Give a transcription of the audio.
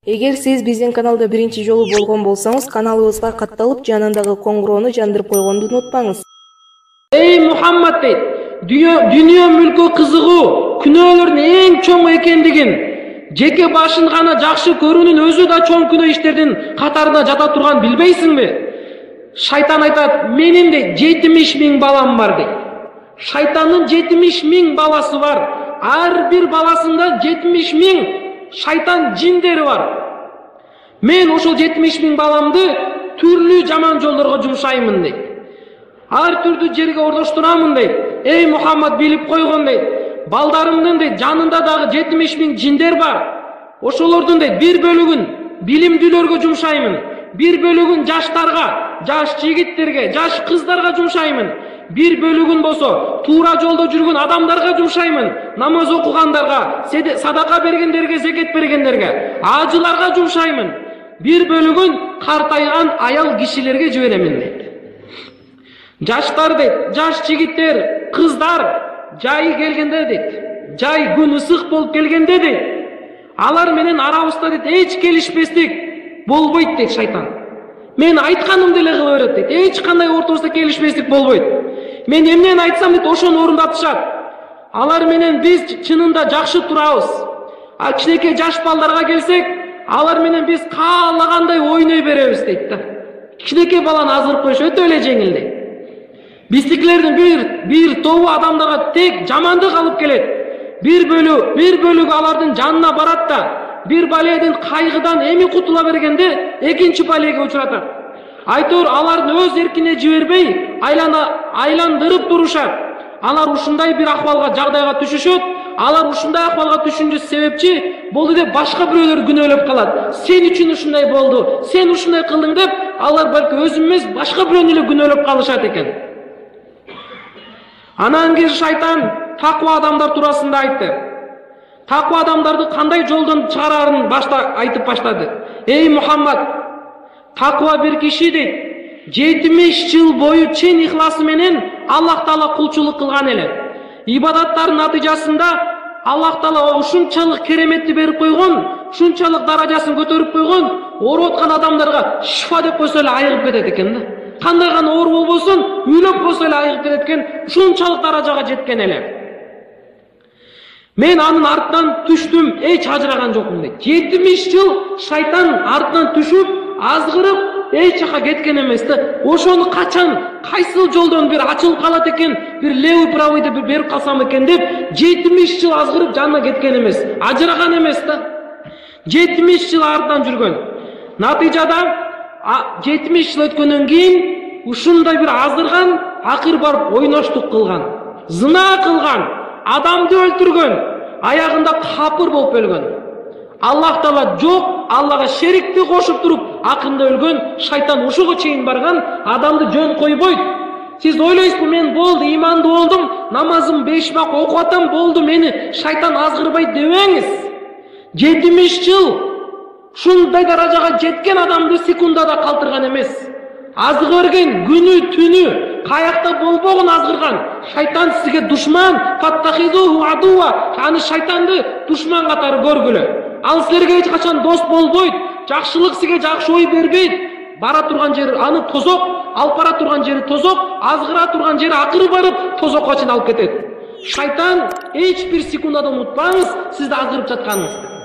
Эгер сиз биздин каналда биринчи жолу болгон болсоңуз, каналыбызга катталып, жанындагы коңгуроону жандырып койгонду унутпаңыз. Эй Мухаммад дейт, дүйнө мүлкү кызыгуу күнөөлөрдүн эң чоң экендигин, жеке башын гана жакшы көрүүнүн өзү да чоң күнөө иштердин катарына жата турганын билбейсиңби? Шайтан айтат, менин де 70.000 балам бар дейт. Шайтандын 70.000 баласы бар. Ар бир баласында 70.000 шайтан жиндери бар. Мен ошол 70.000 баламды түрлүү жаман жолдорго жумшаймын дейт. Ар түрдүү жерге ордоштурамын дейт. Эй Мухаммад, билип койгон дейт. Балдарымдын дейт жанында дагы 70.000 жиндер бар. Ошолордун дейт бир бөлүгүн билимдүүлөргө жумшаймын. Бир бөлүгүн жаштарга, жаш жигиттерге, жаш кыздарга жумшаймын. Бир бөлүгүн болсо туура жолдо жүргөн адамдарга жумшаймын. Намаз окугандарга, садака бергендерге, зекет бергендерге, ажыларга жумшаймын. Бир бөлүгүн картайган аял кишилерге жиберемин дейт. Жаштар дейт, жаш жигиттер, кыздар жайы келгенде дейт, жай күн ысык болуп келгенде дейт, алар менен арабызда дейт эч келишпестик болбойт дейт шайтан. Мен айтканымды эле кыла берет дейт. Эч кандай ортобузда келишпестик болбойт. Мен эмнени айтсам дейт, ошону орундатышат. Алар менен биз чынында жакшы турабыз. А кичинекей жаш балдарга келсек, алар менен биз каалагандай ойной беребиз дейт да. Кичинекей баланы азырып коюш өтө эле жеңил дейт. Биздикилердин бир тобу адамдарга тек жамандык алып келет. Бир бөлүгү алардын жанына барат да, бир баледин кайгыдан эми кутула бергенде экинчи балеге учуратат. Айтор алардын өз эркине жибербей, айландырып турушат. Алар ушундай бир акыбалга, жагдайга түшүшөт. Алар ушундай акыбалга түшүнчү себепчи болду деп башка бирөөлөр күнөөлөп калат. Сен үчүн ушундай болду, сен ушундай кылдың деп, алар балки өзүн эмес, башка бирөөнү эле күнөөлөп калышат экен. Анан кийин шайтан таква адамдар туурасында айтты. Таква адамдарды кандай жолдон чыгарарын айтып баштады. Эй Мухаммад, таква бир киши дейт, 70 жыл бою чын ихласы менен Аллах Таала кулчулук кылган эле. Ибадаттардын натыйжасында Аллах Таала ушунчалык кереметти берип койгон, ушунчалык даражасын көтөрүп койгон, ооруп аткан адамдарга шифа деп койсо эле айыгып кетет экен да. Кандай гана оору болбосун, үйлөп койсо эле айыгып кетет экен, ушунчалык даражага жеткен эле. Мен анын артынан түштүм, эч ажыраган жокмун дейт. 70 жыл шайтан артынан түшүп, азгырып, эч жака кеткен эмес да. Ошону качан, кайсыл жолдон бир ачылып калат экен, бир левый правыйды берип калсам экен деп, 70 жыл азгырып жанына кеткен эмес, ажыраган эмес да. 70 жыл артынан жүргөн. Натыйжада 70 жыл өткөндөн кийин ушундай бир азырган, акыр барып ойноштук кылган, зына кылган, адамды өлтүргөн, аягында капыр болуп өлгөн. Аллах Таала жок, Аллага шерикти кошуп туруп, акырында өлгөн, шайтан ушуга чейин барган, адамды жөн койбойт. Сиз ойлойсузбу, мен болду, имандуу болдум, намазым 5 вак окуп атам, болду, мени шайтан азгырбайт дебеңиз. 70 жыл ушундай даражага жеткен адамды секундада калтырган эмес. Азгырген күнү түнү, каякта болбогун азгырган. Шайтан сизге душман, фаттахизуху адуа. Аны шайтанды душман катары көргүлө. Ал силерге эч качан дос болбойт. Жакшылык сизге жакшы ой бербейт. Бара турган жери аны тозок, алып бара турган жери тозок, азгыра турган жери акыры барып тозокко чейин алып кетет. Шайтан эч бир секундада унутпаңыз сизди азгырып жатканыңызды.